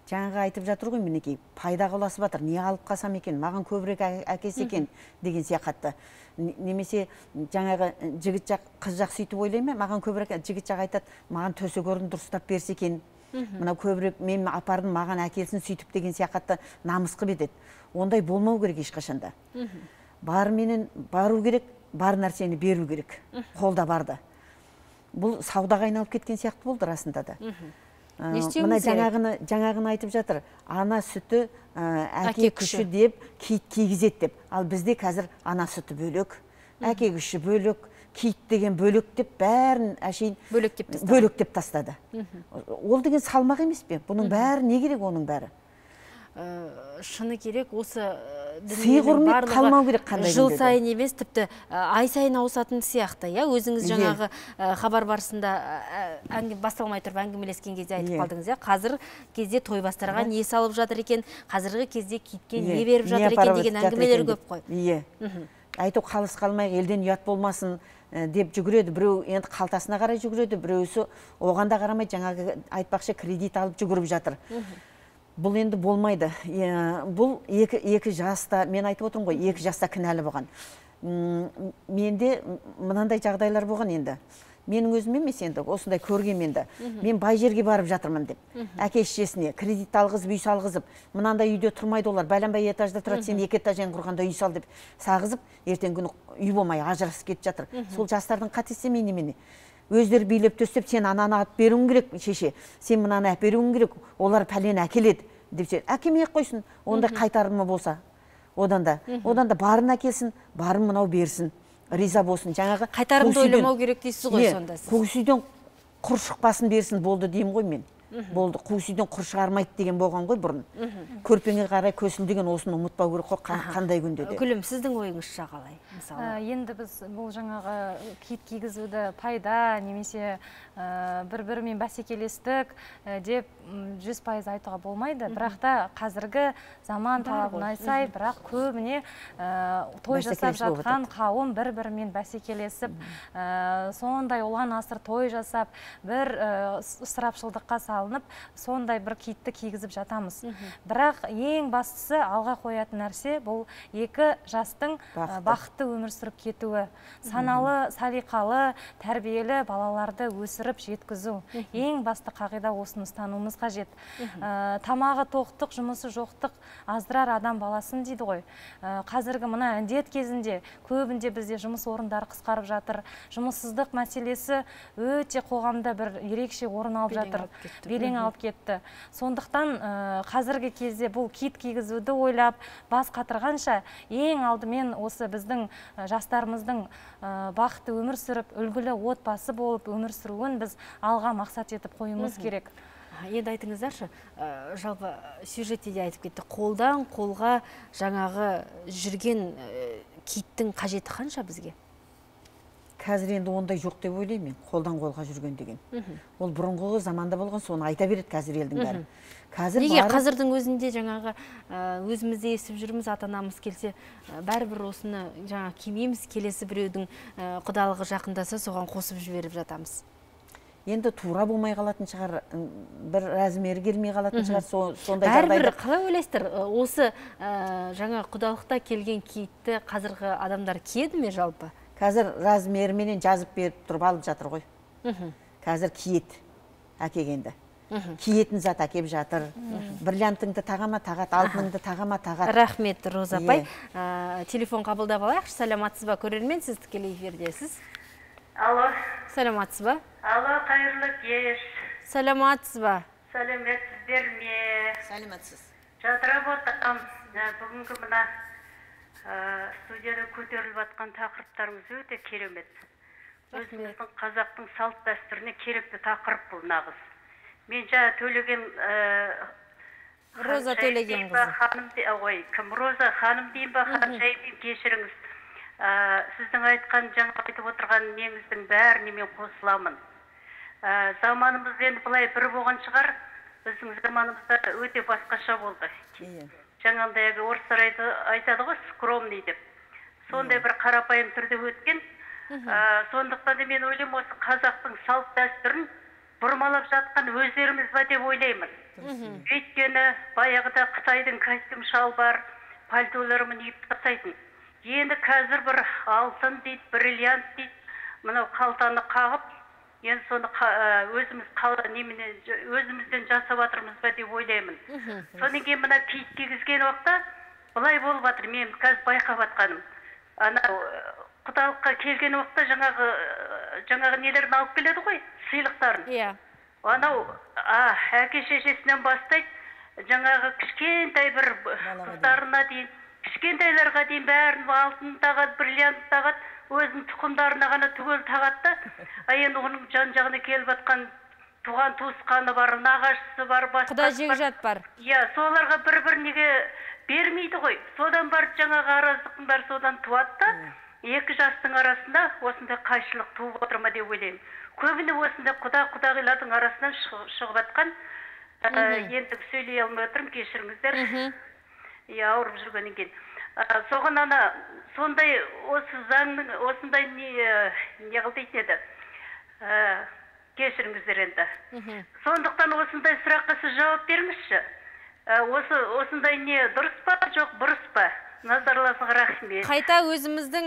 Жаңағы айтып жатыр ғой, мінекей, пайдаға ұласып жатыр. Не алып қасам екен, маған көбірек әкесі екен деген сияқатты. Немесе жаңағы жігіт жақ, қыз жақ сөйтіп ойлай ма? Маған көбірек, жігіт жақ айтады, маған төсек орын дұрыстап берсе екен Мына көбірек мен апардым, маған әкелсін сөйтіп деген сияқты намыс қып етеді. Ондай болмау керек ешқашанда. Бар менен бару керек, бар нәрсені беру керек. Қолда барды. Бұл саудаға айналып кеткен сияқты болды расында да. Мына жаңағыны жаңағыны айтып жатыр. Ана сүті, әке күші деп киіт кигізеді деп. Ал бізде қазір ана сүті бөлек, әке күші бөлек, киіт деген бөлек деп бәрін әшейін бөлек деп тастады. Ол деген салмақ емес пе? Бұның бәрі не керек оның бәрі? Шыны керек, осы сый құрмет қалмау керек қандай жыл сайын емес, тіпті ай сайын ауысатын сияқты. Өзіңіз жаңағы хабар барысында басталмай тұрып әңгімелескен кезде айтып қалдыңыз. Қазір кезде тойбастарға не салып жатыр екен, қазіргі кезде киітке не беріп жатыр екен деген әңгімелер көп қой. Ие. Айту қалыс қалмай, елден ұят болмасын деп жүгіреді. Біреу енді қалтасына қарай жүгіреді, біреусі оған да қарамай жаңағы айтпақшы кредит алып жүгіріп жатыр. Бұл енді болмайды. Бұл екі жаста, мен айтып отырмын ғой, екі жаста кінәлі болған. Менде мынандай жағдайлар болған енді. Менің өзім емес енді, осындай көрген енді. Мен бай жерге барып жатырмын деп. Әке шешесіне кредит алғызып, үй салғызып, мынандай үйде тұрмайды олар, бәленбай этажда тұрады, сен екі этажын құрғанда үй сал деп сағызып, ертең күні үй болмай ажырасып кетіп жатыр. Сол жастардың қатесі мен немене? Өздері билеп төстеп, сен ананы алып беруің керек, шеше, сен мынаны әперуің керек, олар пәлен әкеледі деп сен әкемей қойсын, ондай қайтарымы болса. Одан да, одан да барын әкелсін, барын мынау берсін, риза болсын. Жаңағы қайтарымды ойламау керек дейсіз ғой сонда сіз. Көксүйден құр шықпасын берсін болды деймін ғой мен. Болды, көксүйден құр шығармайды деген болған ғой бұрын. Көрпеңе қарай көсілдеген осыны ұмытпау керек қой қандай күнде де. Гүлім, сіздің ойыңызша қалай? Енді біз бұл жаңағы киіт кигізуді пайда немесе бір-бірімен бәсекелестік деп жүз пайыз айтуға болмайды. Бірақ та қазіргі заман талабына сай, бірақ көбіне той жасап жатқан қауым бір-бірімен бәсекелесіп, сондай ұлан асыр той жасап, бір ысырапшылдыққа салынып, сондай бір киітті кигізіп жатамыз. Бірақ ең бастысы алға қоятын нәрсе бұл екі жастың бақытты өмір сүріп кетуі, саналы, салиқалы, тәрбиелі балаларды өсіріп жеткізу. Ең басты қағида осыны ұстануымыз қажет. Тамағы тоқтық, жұмысы жоқтық аздырар адам баласын дейді ғой. Қазіргі мына індет кезінде көбінде бізде жұмыс орындары қысқарып жатыр. Жұмыссыздық мәселесі өте қоғамда бір ерекше орын алып жатыр. Белең алып кетті. Сондықтан қазіргі кезде бұл киіт кигізуді ойлап, бас қатырғанша ең алдымен осы біздің жастарымыздың бақытты өмір сүріп, үлгілі отбасы болып өмір сүруін біз алға мақсат етіп қоюымыз керек. Енді айтыңыздаршы, жалпы сюжетте де айтып кетті, қолдан қолға жаңағы жүрген киіттің қажеті қанша бізге? Қазір енді ондай жоқ деп ойлаймын, қолдан қолға жүрген деген. Ол бұрынғы заманда болған, соны айта береді қазір елдің бәрі. Неге қазірдің өзінде жаңағы өзімізде естіп жүрміз, ата-анамыз келсе, бәрібір осыны жаңа кимейміз, келесі біреудің құдалығы жақындаса, соған қосып жіберіп жатамыз. Енді тура болмай қалатын шығар, бір размері келмей қалатын шығар, сондай жағдайда. Бәрібір қалай ойлайсыздар, осы жаңа құдалықта келген киітті қазіргі адамдар киеді ме жалпы? Қазір размеріменен жазып беріп тұрып алып жатыр ғой. Қазір киет әкегенді. Киетін зат әкеп жатыр. Бриллиантыңды тағама тағат, алтыныңды тағама тағат. Рахмет, Роза апай. Телефон қабылдап алайықшы. Саламатсыз ба, көрермен, сіз тікелей эфирдесіз. Алло. Саламатсыз ба? Алло, қайырлы кеш. Саламатсыз ба? Сәлеметсіздер ме? Сәлеметсіз. Жадырап отырмын. Бүгінгі мына студияда көтеріліп жатқан тақырыптарыңыз өте керемет. Өзіміздің қазақтың салт дәстүріне керекті тақырып бұл нағыз. Мен жаңа Төлеген Роза Төлеген қызы. Ой, кім Роза ханым дейін ба, Ханшайым кешіріңіз. Сіздің айтқан жаңа айтып отырған неңіздің бәріне мен қосыламын. Заманымыз енді былай бір болған шығар, біздің заманымызда өте басқаша болды. Жаңағындай орыстар айтады ғой, скромный деп. Сондай бір қарапайым түрде өткен. Сондықтан да мен ойлаймын, осы қазақтың салт дәстүрін бұрмалап жатқан өздеріміз ба деп ойлаймын. Өйткені баяғыда Қытайдың костюм шалбар, пальтоларымен үйіп тастайтын. Енді қазір бір алтын дейді, бриллиант дейді, мынау қалтаны қағып, енді соны өзіміз неменен өзімізден жасап жатырмыз ба деп ойлаймын. Содан кейін мына киіт кигізген уақытта былай болып жатыр, мен қазір байқап жатқаным. Ана құдалыққа келген уақытта жаңағы жаңағы нелерін алып келеді ғой, сыйлықтарын. Иә. Анау әке шешесінен бастайды, жаңағы кішкентай бір қыздарына дейін, кішкентайларға дейін бәрін алтын тағады, бриллиант тағады, өзінің тұқымдарына ғана түгел тағады да, енді оның жан-жағына келіп жатқан туған туысқаны бар, нағашысы бар, басқа құда жекжат бар. Иә, соларға бір-біріне бермейді ғой. Содан бар жаңағы араздықтың бәрі содан туады да, екі жастың арасында осындай қайшылық туып отыр ма деп ойлаймын. Көбіне осындай құда-құдағилардың арасынан шығып жатқан, енді сөйлей алмай отырмын, кешіріңіздер. Иә, ауырып жүргеннен кейін. Соған ана сондай осы заңның осындай не не қылдайтын еді. Кешіріңіздер енді. Сондықтан осындай сұраққа сіз жауап беріңізші. Осы осындай не дұрыс па, жоқ бұрыс па? Назарларыңызға рахмет. Қайта өзіміздің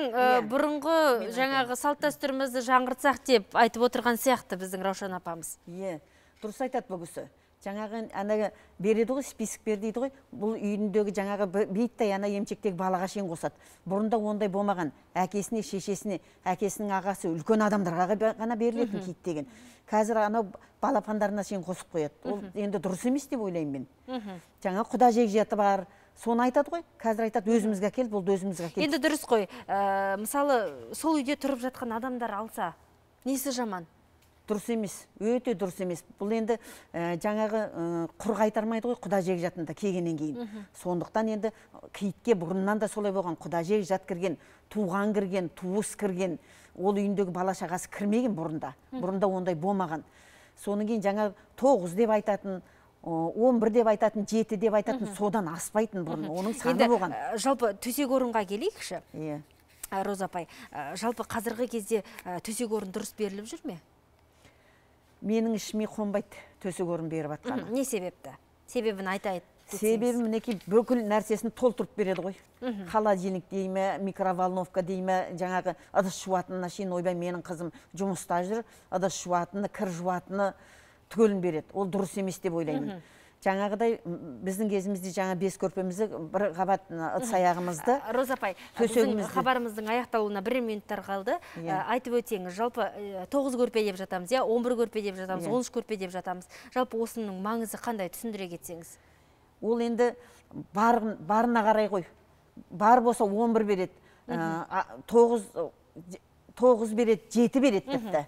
бұрынғы жаңағы салт дәстүрімізді жаңғыртсақ деп айтып отырған сияқты біздің Раушан апамыз. Иә, дұрыс айтады бұл кісі. Жаңағы ана береді ғой, список бер дейді ғой, бұл үйіндегі жаңағы бейттай ана емчектегі балаға шейін қосады. Бұрында ондай болмаған, әкесіне, шешесіне, әкесінің ағасы, үлкен адамдарға ғана берілетін киіт деген. Қазір анау балапандарына шейін қосып қояды. Ол енді дұрыс емес деп ойлаймын мен. Жаңа құда жекжаты бар, соны айтады ғой. Қазір айтады, өзімізге әкел, бұл өзімізге әкел. Енді дұрыс қой. Мысалы, сол үйде тұрып жатқан адамдар алса, несі жаман? Дұрыс емес, өте дұрыс емес. Бұл енді жаңағы құр қайтармайды ғой құда жекжатында келгеннен кейін. Сондықтан енді киітке бұрыннан да солай болған, құда жекжат кірген, туған кірген, туыс кірген, ол үйіндегі бала шағасы кірмеген бұрында. Бұрында ондай болмаған. Соның кейін жаңа тоғыз деп айтатын, он бір деп айтатын, жеті деп айтатын, содан аспайтын бұрын. Оның саны болған. Жалпы төсек орынға келейікші. Иә. Роза апай, жалпы қазіргі кезде төсек орын дұрыс беріліп жүр ме? Менің ішіме қонбайды төсек орын беріп атқаны. Не себепті? Себебін айтайын. Себебі мінекей бүкіл нәрсесін толтырып береді ғой. Холодильник дейме, микроволновка дейме, жаңағы ыдыс жуатынына шейін ойбай менің қызым жұмыста жүр, ыдыс жуатыны, кір жуатыны түгелін береді. Ол дұрыс емес деп ойлаймын. Жаңағыдай біздің кезімізде жаңа бес көрпемізді бір қабат ыдыс аяғымызды. Роза апай, біздің хабарымыздың аяқталуына бір минуттар қалды. Айтып өтеңіз, жалпы тоғыз көрпе деп жатамыз, он бір көрпе деп жатамыз, он үш көрпе деп жатамыз. Жалпы осының маңызы қандай, түсіндіре кетсеңіз? Ол енді барына қарай ғой. Бар болса он бір береді, тоғыз береді, жеті береді тіпті.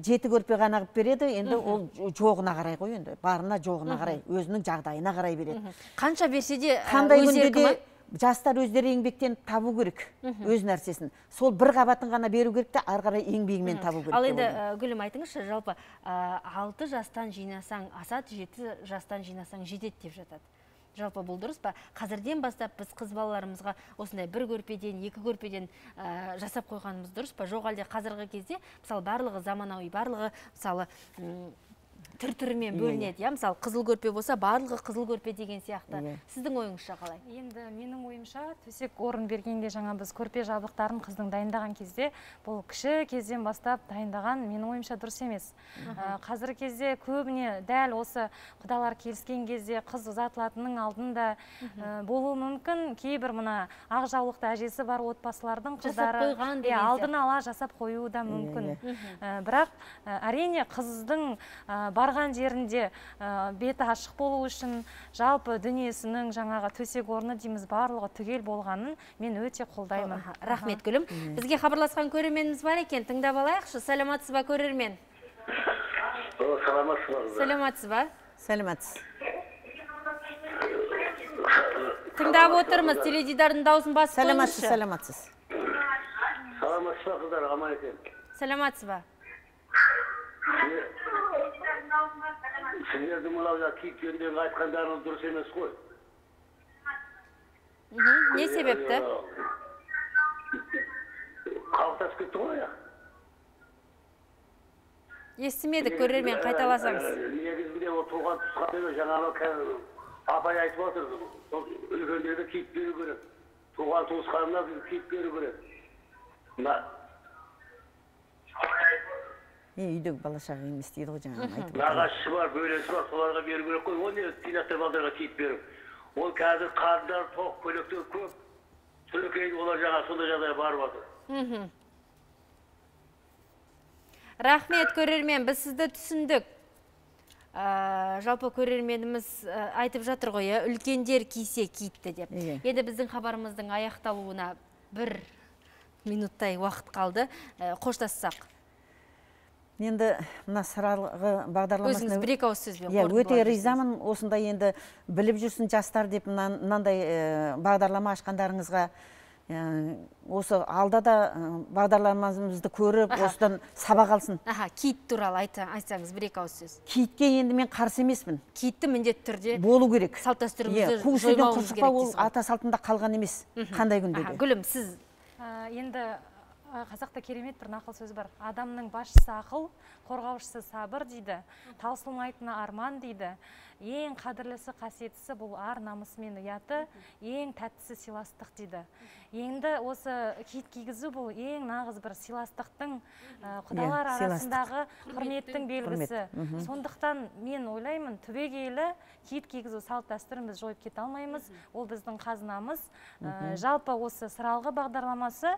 Жеті көрпе ғана қып береді, енді ол жоғына қарай ғой, енді барына жоғына қарай, өзінің жағдайына қарай береді. Қанша берсе де өз еркіме? Жастар өздері еңбектен табу керек, өз нәрсесін. Сол бір қабатын ғана беру керек те, ары қарай еңбегімен табу керек. Ал енді Гүлім айтыңызшы, жалпы алты жастан жинасаң асады, жеті жастан жинасаң жетеді деп жатады. Жалпы бұл дұрыс па? Қазірден бастап біз қыз балаларымызға осындай бір көрпеден, екі көрпеден жасап қойғанымыз дұрыс па? Жоқ әлде қазіргі кезде, мысалы, барлығы заманауи, барлығы, мысалы, түр-түрімен бөлінеді. Мысалы, қызыл көрпе болса, барлығы қызыл көрпе деген сияқты. Сіздің ойыңызша қалай? Енді менің ойымша, төсек орын бергенде жаңа біз көрпе жабдықтарын қыздың дайындаған кезде, бұл кіші кезден бастап дайындаған, менің ойымша дұрыс емес. Қазіргі кезде көбіне дәл осы құдалар келіскен кезде қыз ұзатылатынның алдында болуы мүмкін. Кейбір мына ақ жаулықты әжесі бар отбасылардың қыздары алдын ала жасап қоюы да мүмкін. Бірақ әрине қыздың барған жерінде беті ашық болу үшін жалпы дүниесінің жаңағы төсек орны дейміз барлығы түгел болғанын мен өте қолдаймын. Рахмет Гүлім. Бізге хабарласқан көрерменіміз бар екен, тыңдап алайықшы. Саламатсыз ба көрермен? Саламатсыз ба? Саламатсыз. Тыңдап отырмыз, теледидардың дауысын басып қойыңызшы. Саламатсыз. Саламатсыз ба қыздар, аман екен. Саламатсыз ба? Сіздердің мынау киіт жөніндегі айтқандарыңыз дұрыс емес қой. Не себепті? Қалыптасып кетті ғой аяқ. Естімедік, көрермен, қайталасаңыз. Негізінде ол туған туысқаны жаңағы апай айтып отыр. Үлкендерді киіт беру керек. Туған туысқанына киіт беру керек. үйдегі бала шаға емес дейді ғой жаңағы айтып нағашысы бар, бөлесі бар, соларға беру керек қой. Ол не тинаптар балдарға киіп беру. Ол қазір қарындар тоқ көлектер көп. Сөлекейді олар жаңа сондай жағдайға барып жатыр. Рахмет, көрермен, біз сізді түсіндік. Жалпы көрерменіміз айтып жатыр ғой, үлкендер кисе киітті деп. Енді біздің хабарымыздың аяқталуына бір минуттай уақыт қалды. Қоштассақ. Енді мына сыралғы бағдарламасына... Өзіңіз бір-екі ауыз сөзбен қорытындылап өте ризамын. Осындай енді біліп жүрсін жастар деп мынандай бағдарлама ашқандарыңызға. Осы алда да бағдарламамызды көріп, осыдан сабақ алсын. Киіт туралы айтсаңыз бір-екі ауыз сөз. Киітке енді мен қарсы емеспін. Киітті міндетті түрде болу керек. Салт дәстүрімізді жоймауымыз керек. Ол ата салтында қалған емес. Қандай күнде де. Гүлім, сіз енді қазақта керемет бір нақыл сөз бар. Адамның басшысы ақыл, қорғаушысы сабыр дейді. Таусылмайтыны арман дейді. Ең қадірлісі қасиеттісі бұл ар намысы мен ұяты, ең тәттісі сыйластық дейді. Енді осы киіт кигізу бұл ең нағыз бір сыйластықтың, құдалар арасындағы құрметтің белгісі. Сондықтан мен ойлаймын, түбегейлі киіт кигізу салт дәстүріміз жойып кете алмаймыз. Ол біздің қазынамыз. Жалпы осы сыралғы бағдарламасы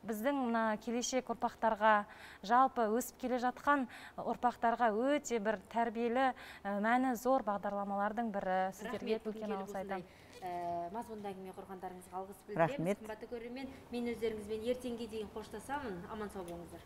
біздің мына келешек ұрпақтарға, жалпы өсіп келе жатқан ұрпақтарға өте бір тәрбиелі, мәні зор бағдарламалардың бірі. Сіздерге үлкен алғыс айтамын. Мазмұнды әңгіме құрғандарыңызға алғыс білдіреміз. Қымбатты көрермен, мен өздеріңізбен ертеңге дейін қоштасамын. Аман сау болыңыздар.